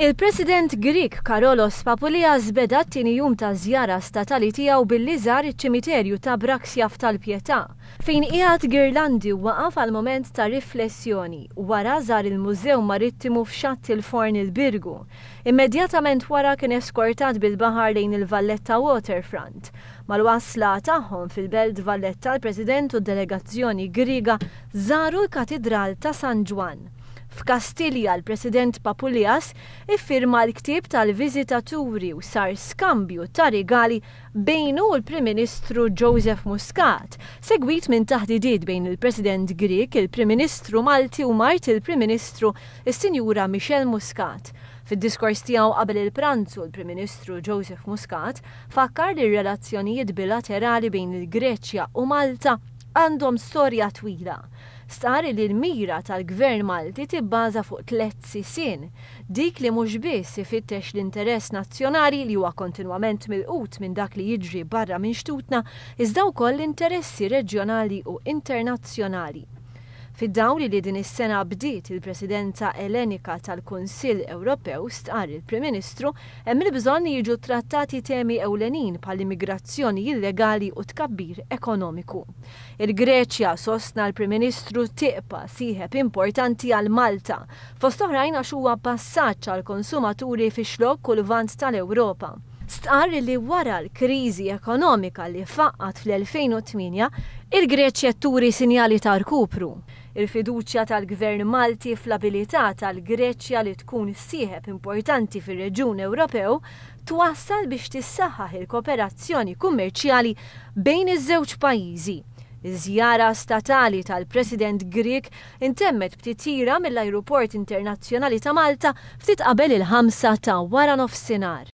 Il-President Grieg Karolos Papoulias beda t-tieni jum taż-żjara statali tiegħu billi żar iċ-ċimiterju ta' Braxia f'Tal-Pietà, fejn qiegħed girlandi u waqaf għal mument ta' riflessjoni. Wara żar il-Mużew Marittimu f'Xatt il-Forn il-Birgu. Immedjatament wara kien eskortat bil-baħar lejn il-Valletta Waterfront. Mal-wasla tagħhom fil-Belt Valletta l-President u d-delegazzjoni Griega żaru l-Katidral ta' San Ġwann. F'Kastilja l-President Papoulias iffirma l-ktieb tal-viżitaturi u sar skambju ta' rigali bejnu u l-Prim Ministru Joseph Muscat, segwit minn taħdidiet bejn il-President Grieg, il-Prim Ministru Malti u mart il-Prim Ministru is-Sinjura Michelle Muscat. Fid-diskors tiegħu qabel il-pranzu l-Prim Ministru Joseph Muscat fakkar li r-relazzjonijiet bilaterali bejn il-Greċja u Malta għandhom storja twila. Stqarr li l-mira tal-Gvern Malti tibbaża fuq tlett sisien, dik li mhux biss ifittex l-interess nazzjonali li huwa kontinwament milqut minn dak li jiġri barra minn xtutna iżda wkoll l-interessi reġjonali u internazzjonali. Fid-dawl li din is-sena bdiet il-Presidenza Elenika tal-Kunsill Ewropew, stqarr il-Prim Ministru, hemm il-bżonn li jiġu ttrattati temi ewlenin bħall-immigrazzjoni illegali u t-tkabbir ekonomiku. Il-Greċja, sostna l-Prim Ministru, tibqa' sieħeb importanti għal Malta, fost oħrajn għax huwa passaġġ għall-konsumaturi fix-Xlokk u l-Lvant tal-Ewropa. Stqarr li wara l-kriżi ekonomika li faqqgħet fl-2008, il-Greċja qed turi sinjali ta' rkupru. Il-fiduċja tal-Gvern Malti fl-abilità tal-Greċja li tkun sieħeb importanti fir-reġjun Ewropew twassal biex tissaħħaħ il-kooperazzjoni kummerċjali bejn iż-żewġ pajjiżi. Iż-żjara statali tal-President Grieg intemmet b'titjira mill-Ajruport Internazzjonali ta' Malta ftit qabel il-ħamsa ta' waranofsinhar.